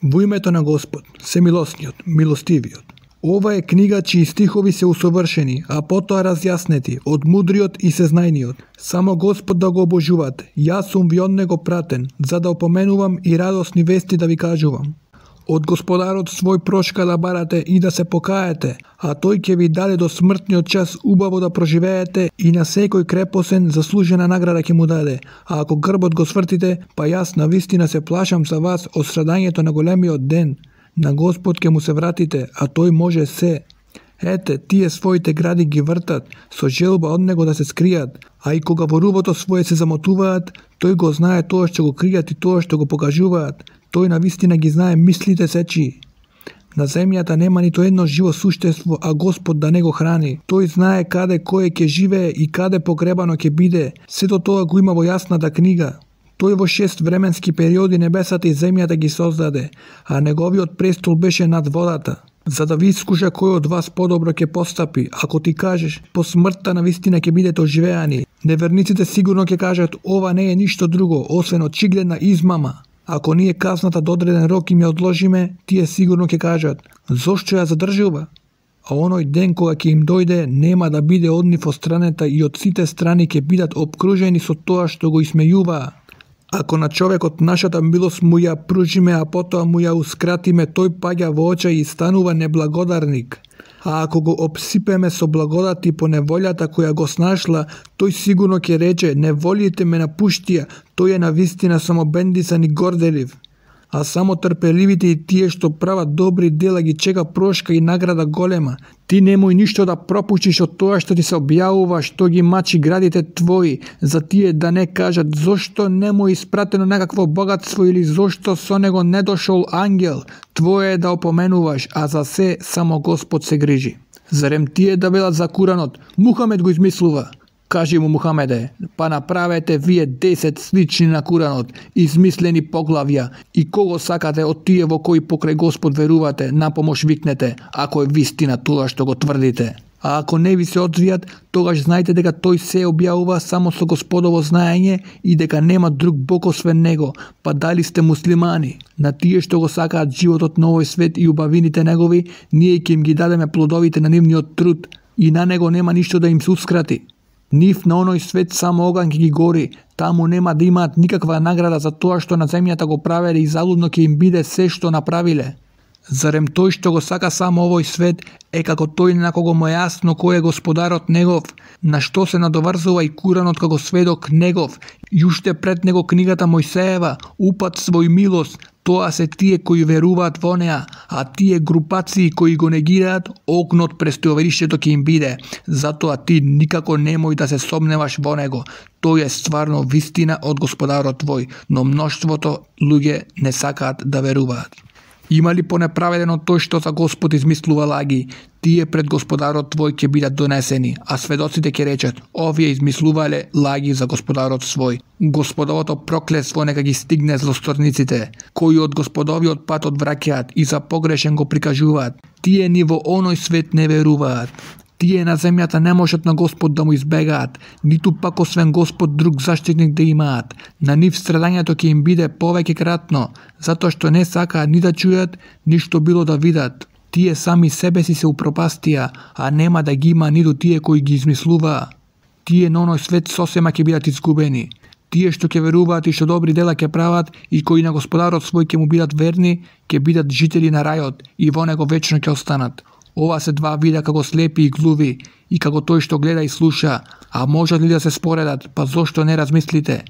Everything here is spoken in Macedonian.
Во името на Господ, Семилосниот, Милостивиот. Ова е книга чии стихови се усовршени, а потоа разјаснети од мудриот и сезнајниот. Само Господ да го обожувате. Јас сум ви од него пратен, за да опоменувам и радосни вести да ви кажувам. Од Господарот свој прошка да барате и да се покаете, а тој ќе ви даде до смртниот час убаво да проживеете и на секој крепосен заслужена награда ќе му даде. А ако грбот го свртите, па јас навистина се плашам за вас од страдањето на големиот ден. На Господ ќе му се вратите, а тој може се. Ете, тие своите гради ги вртат, со желба од него да се скријат, а и кога во рубото свое се замотуваат, тој го знае тоа што го кријат и тоа што го покажуваат. Тој навистина ги знае мислите сечи. На земјата нема нито едно живо суштество, а Господ да не го храни. Тој знае каде кој ќе живее и каде погребано ќе биде. Сето тоа го има во јасната книга. Тој во 6 временски периоди небесата и земјата ги создаде, а неговиот престол беше над водата. За да ви искуша кој од вас подобро ќе постапи, ако ти кажеш, по смртта навистина ќе бидете оживеани. Неверниците сигурно ќе кажат, ова не е ништо друго, освен очигледна измама. Ако ние казната до одреден рок им ја одложиме, тие сигурно ќе кажат, зошто ја задржува? А оној ден кога ќе им дојде, нема да биде од нив остранета и од сите страни ќе бидат обкружени со тоа што го исмејуваа. Ако на човекот нашата милост му ја пружиме, а потоа му јаускратиме, тој паѓа во очај и станува неблагодарник. А ако го обсипеме со благодати по неволјата која го снашла, тој сигурно ќе рече, неволите ме напуштија, тој е навистина само бендисан и горделив. А само трпеливите и тие што прават добри дела ги чека прошка и награда голема. Ти немој ништо да пропуштиш од тоа што ти се објавува, што ги мачи градите твои, за тие да не кажат зошто не му испратено некакво богатство или зошто со него не дошол ангел. Твое е да опоменуваш, а за се само Господ се грижи. Зарем тие да велат за Куранот, Мухамед го измислува? Кажи му Мухамеде, па направете вие 10 слични на Куранот, измислени поглавја, и кого сакате од тие во кои покрај Господ верувате, на помош викнете, ако е вистина тоа што го тврдите. А ако не ви се одвијат, тогаш знајте дека тој се објавува само со Господово знаење и дека нема друг Бог освен него, па дали сте муслимани. На тие што го сакаат животот на овој свет и убавините негови, ние ќе им ги дадеме плодовите на нивниот труд, и на него нема ништо да им се ускрати. Нив на оној свет само оган ќе ги гори, таму нема да имаат никаква награда за тоа што на земјата го правеле и залудно ќе им биде се што направиле. Зарем тој што го сака само овој свет е како тој на кого му е јасно кој е Господарот негов, на што се надоврзува и Куранот како сведок негов, и уште пред него книгата Мојсеева, упат свој милост, тоа се тие кои веруваат во неа, а тие групации кои го негираат, огнот престојовиштето ќе им биде. Затоа ти никако немој да се сомневаш во него. Тој е стварно вистина од Господарот твој, но мноштвото луѓе не сакаат да веруваат. Има ли понеправедено тој што за Господ измислува лаги? Тие пред Господарот твој ќе бидат донесени, а сведоците ќе речат, овие измислувале лаги за Господарот свој. Господовото проклетство нека ги стигне злосторниците, кои од Господовиот пат одвраќаат и за погрешен го прикажуваат. Тие ни во оној свет не веруваат. Тие на земјата не можат на Господ да му избегаат, ниту пак освен Господ друг заштитник да имаат. На нив страдањето ќе им биде повеќе кратно, затоа што не сакаат ни да чујат, ништо било да видат. Тие сами себе си се упропастија, а нема да ги има ниту тие кои ги измислуваа. Тие на оној свет сосема ќе бидат изгубени. Тие што ќе веруваат и што добри дела ќе прават и кои на Господарот свој ќе му бидат верни, ќе бидат жители на рајот и во него вечно ќе останат. Ова се два вида како слепи и глуви, и како тој што гледа и слуша, а можат ли да се споредат, па зошто не размислите?